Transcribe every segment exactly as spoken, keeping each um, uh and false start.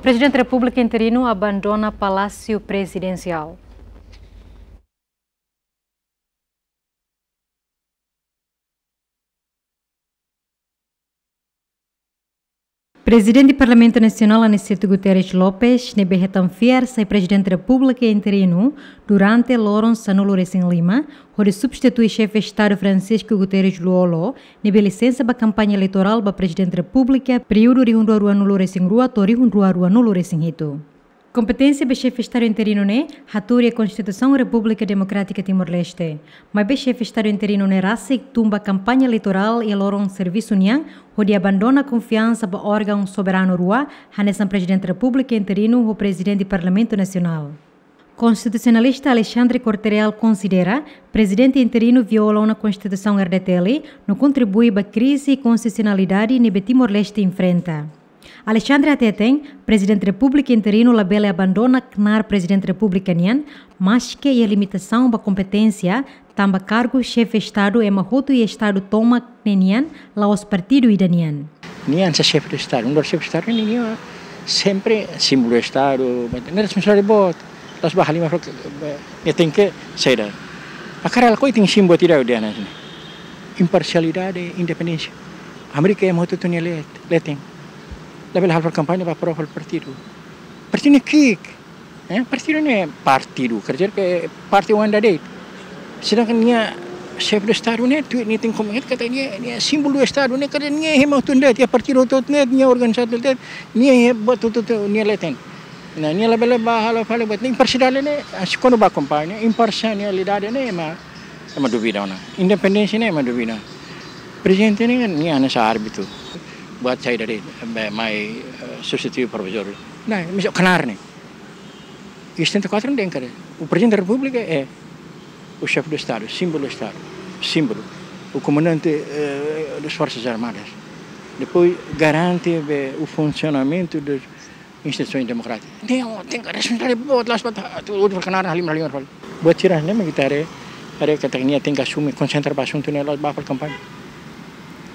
Prezidente Repúblika interinu abandona Palásiu Prezidensiál. Prezidente Parlamentu Nasionál Aniceto Guterres Lopes, ne'ebé hetan fiar sai Prezidente Repúblika interinu durante loron sanulu-resin-lima, hodi substitui Xefe Estadu Francisco Guterres Lú-Olo, ne'ebé lisensa ba kampaña eleitorál ba Prezidente Repúblika, períodu rihun rua ruanulu-resin-rua to'o rihun rua ruanulu-resin-hitu. Kompeténsia ba Xefe Estadu interinu ne'e hatuur iha Konstituisaun Repúblika Demokrátika Timor-Leste. Maibé Xefe Estadu interinu ne'e rasik tun ba kampaña eleitorál iha loron servisu nian, hodi abandona konfiansa ba órgaun soberanu rua, hanesan Prezidente Repúblika interinu ho Prezidente Parlamentu Nasionál. Konstitusionalista Alexandre Corte-Real konsidera Prezidente interinu viola ona Konstituisaun R D T L, no kontribui ba krize konstitusionalidade ne'ebé Timor-Leste enfrenta. Alexandre hateten, Prezidente Repúblika interinu labele abandona knaar Prezidente Repúblika nian, maske iha limitasaun ba kompeténsia, tanba kargu Xefe Estadu ema hotu iha Estadu tomak ne'e nian, la'ós partidu ida nian. Nia hanesan Xefe Estadu, nu'udar Xefe Estadu ne'e nia sempre símbolu Estadu, ne'e responsabilidade boot, la'ós ba halimar fali, nia tenke saida. Hakarak lakohi tenke símbolu ida de'it hanesan ne'e. Imparsialidade, independénsia. Amérika ema hotu-hotu nia let-, leten. Labele halo fali kampaña ba pró fali partidu. Partidu ne'e ki'ik. Eh, partidu ne'e partidu, quer dizer que parte oan ida de'it. Sedangkan nia Xefe Estadu ne'e, tuir nia tenke komunika katak nia, nia símbolu Estadu ne'e, katak nia ema hotu de'it, iha partidu hotu de'it, nia organizasaun de'it, nia iha buat hotu-hotu nia leten. Nah, nia labele ba halo fali buat ne'e, imparsialidade ne'e, ah, se kuandu ba kampaña, imparsialidade ne'e ema, ema duvida ona. Independénsia ne'e ema duvida. Prezidente ne'e, nia hanesan árbitru. Buat saida de'it, be, mai, eh, substitui provizóriu. Nah, misal knaar ne'e. E setenta e quatro não tem, cara. O Presidente da República é o chefe do Estado, símbolo do Estado, símbolo. O comandante, eh, das Forças Armadas. Depois garante, eh, o funcionamento das instituições democráticas. Tem, tem que responsabilidade boa, lá se bota, tu, outro canal, ali, ali, ali. Buat sira-ne'e mak ita haree, haree katak nia tenke asume, konsentra ba asuntu ne'e, la'ós ba fali kampaña.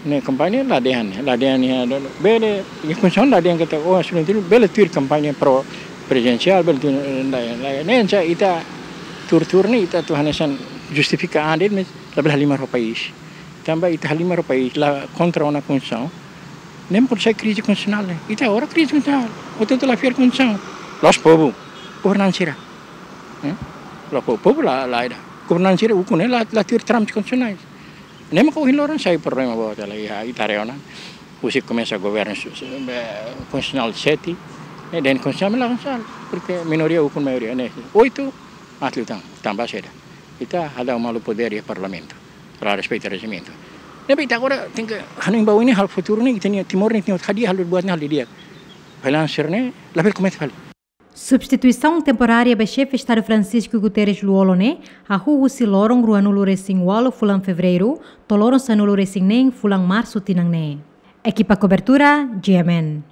Ne'e kampaña la dehan, la dehan nia, bele, nia kondisaun la dehan katak, oh, asuntu ne'e bele tuir kampaña pró-prezidensiál, bele tuir, la, la, ne'e hanesan ita tuur-tuur ne'e, ita atu hanesan justifika an de'it, mas labele halimar ho país. Tanba ita halimar ho país, la kontra ona konstituisaun. Ne'e mak sai krize konstitusionál ne'e. Ita agora krize konstitusionál. Hotu-hotu la fiar konstituisaun. La'ós povu. Governante sira. Eh? La'ós povu, povu la, la ida. Governante sira ukun ne'e la, la tuir trâmites konstitusionais. Ne'e mak ohin loron sai problema boot hela iha, ita haree ona. Husi komesa governu su-, su-, eh, konstitusionál sete, eh, dehan konstitusionál la konstitusionál, porque minoria ukun maioria, ne'e. Oitu, atlu tan, tanba saida. Ita hadau malu podér iha parlamentu, la respeita rejimentu. Ne'ebé ita agora tenke hanoin ba oin ne'e, halo futuru ne'e, ita-nia Timor ne'e, ita-nia hadi'a halo buat ne'e, halo di'ak. Balansu ne'e, labele komete fali. Substituisaun temporária ba Xefe Estadu Francisco Guterres Lú-Olo ne'e hahú husi loron ruanulu-resin-ualu fulan Fevereiru to'o loron sanulu-resin-neen fulan Marsu tinan ne'e. Ekipa kobertura, G M N.